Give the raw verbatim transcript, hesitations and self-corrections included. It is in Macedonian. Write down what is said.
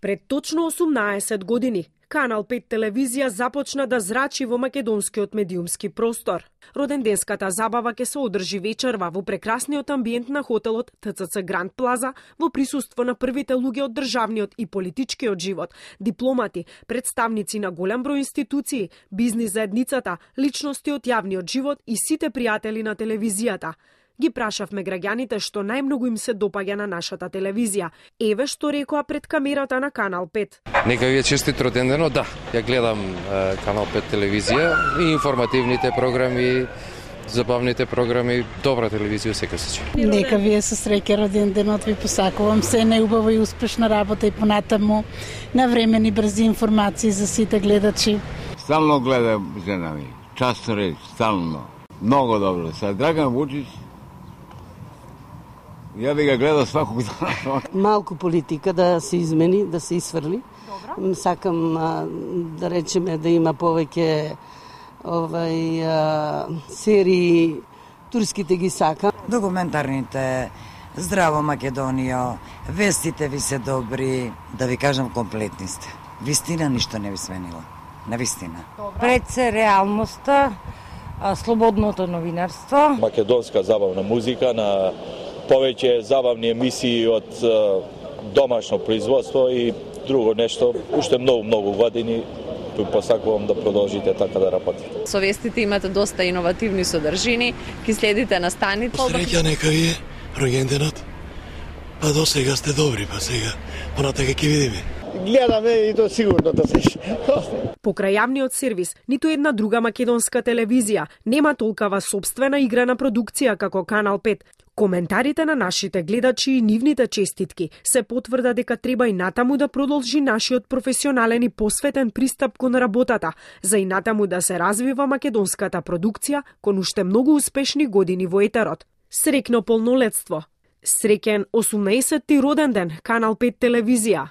Пред точно осумнаесет години, Канал пет телевизија започна да зрачи во македонскиот медиумски простор. Роденденската забава ќе се одржи вечерва во прекрасниот амбиент на хотелот Т Ц Ц Гранд Плаза во присуство на првите луѓе од државниот и политичкиот живот, дипломати, представници на голем број институции, бизнис заедницата, личности од јавниот живот и сите пријатели на телевизијата. Ги прашавме граѓаните што најмногу им се допаѓа на нашата телевизија. Еве што рекоа пред камерата на Канал пет. Нека ви е честит родендено, да. Ја гледам е, Канал пет телевизија и информативните програми, забавните програми, добра телевизија секој случај. Нека ви е со среќа роденденот, ви посакувам се најубава и успешна работа и понатаму навремени брзи информации за сите гледачи. Стално гледам жена ми, часто реч, стално. Много добро. Са Драган Вучич, ја би ga гледал сваког дана. Малку политика да се измени, да се исфрли. Добро. Сакам а, да речеме да има повеќе овај а, серии, турските ги сакам. Документарните, здраво Македонија, вестите ви се добри, да ви кажам комплетни сте. Вистина ништо не ви сменила. Навистина. Пред се реалноста, слободното новинарство. Македонска забавна музика на повеќе забавни емисии од домашно производство и друго нешто. Уште многу, многу години посакувам да продолжите така да работите. Со вестите имате доста иновативни содржини, ки следите на станите. Среќа нека ви е рогенденот. Па до сега сте добри, па сега понатака ќе видиме. Гледаме и то сигурно да се. Покрај јавниот сервис, ниту една друга македонска телевизија нема толкава сопствена играна продукција како Канал пет. Коментарите на нашите гледачи и нивните честитки се потврда дека треба и натаму да продолжи нашиот професионален и посветен пристап кон работата, за и натаму да се развива македонската продукција кон уште многу успешни години во етерот. Среќно полнолетство. Среќен осумнаесетти роденден Канал пет телевизија.